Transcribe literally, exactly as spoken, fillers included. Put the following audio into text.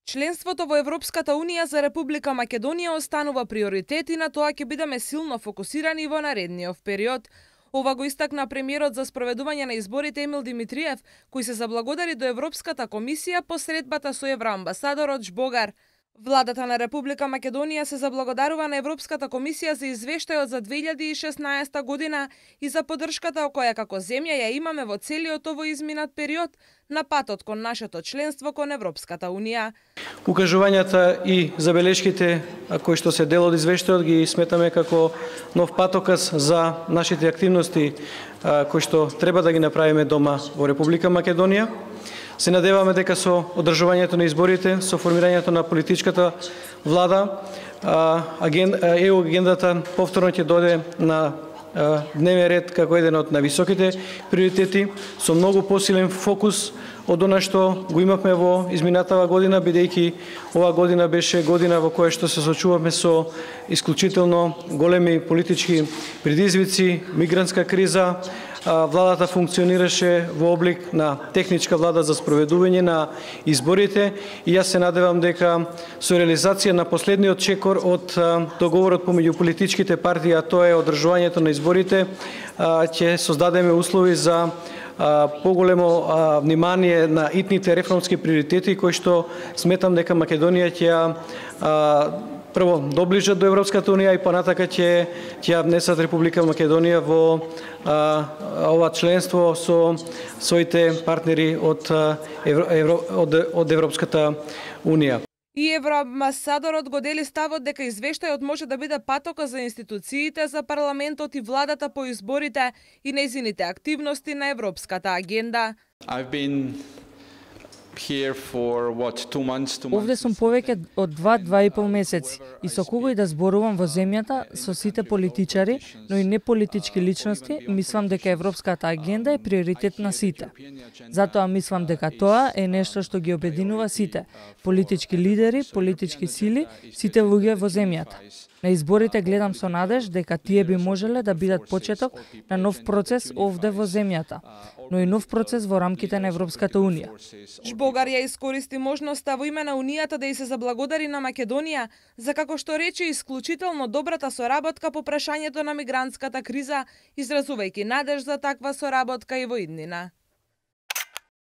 Членството во Европската Унија за Република Македонија останува приоритет и на тоа ќе бидеме силно фокусирани во наредниот период. Ова го истакна премиерот за спроведување на изборите Емил Димитриев, кој се заблагодари до Европската комисија по средбата со евроамбасадорот Жбогар. Владата на Република Македонија се заблагодарува на Европската комисија за извештајот за две илјади и шеснаесета година и за поддршката која како земја ја имаме во целиот овој изминат период на патот кон нашето членство кон Европската Унија. Укажувањата и забелешките кои што се дел од извештајот ги сметаме како нов патоказ за нашите активности кои што треба да ги направиме дома во Република Македонија. Се надеваме дека со одржувањето на изборите, со формирањето на политичката влада, е у агендата повторно ќе дојде на дневен ред како еден од највисоките приоритети, со многу посилен фокус од она што го имавме во изминатава година, бидејќи оваа година беше година во која што се соочувавме со исклучително големи политички предизвици, мигрантска криза. Владата функционираше во облик на техничка влада за спроведување на изборите и јас се надевам дека со реализација на последниот чекор од договорот помеѓу политичките партии, а тоа е одржувањето на изборите, ќе создадеме услови за поголемо внимание на итните реформски приоритети кои што сметам дека Македонија ќе прво доближат до Европската Унија и понатака ќе ќе внесат Република Македонија во а, ова членство со своите партнери од, Евро, од, од Европската Унија. И евроамбасадорот го дели ставот дека извештајот може да биде патока за институциите, за парламентот и владата по изборите и нејзините активности на европската агенда. I've been Овде сум повеќе од два до два и пол месеци и со кого и да зборувам во земјата, со сите политичари, но и неполитички личности, мислам дека европската агенда е приоритет на сите. Затоа мислам дека тоа е нешто што ги обединува сите, политички лидери, политички сили, сите луѓе во земјата. На изборите гледам со надеж дека тие би можеле да бидат почеток на нов процес овде во земјата, но и нов процес во рамките на Европската Унија. Жбогар ја искористи можноста во име на Унијата да и се заблагодари на Македонија за, како што рече, исклучително добрата соработка по прашањето на мигрантската криза, изразувајќи надеж за таква соработка и во иднина.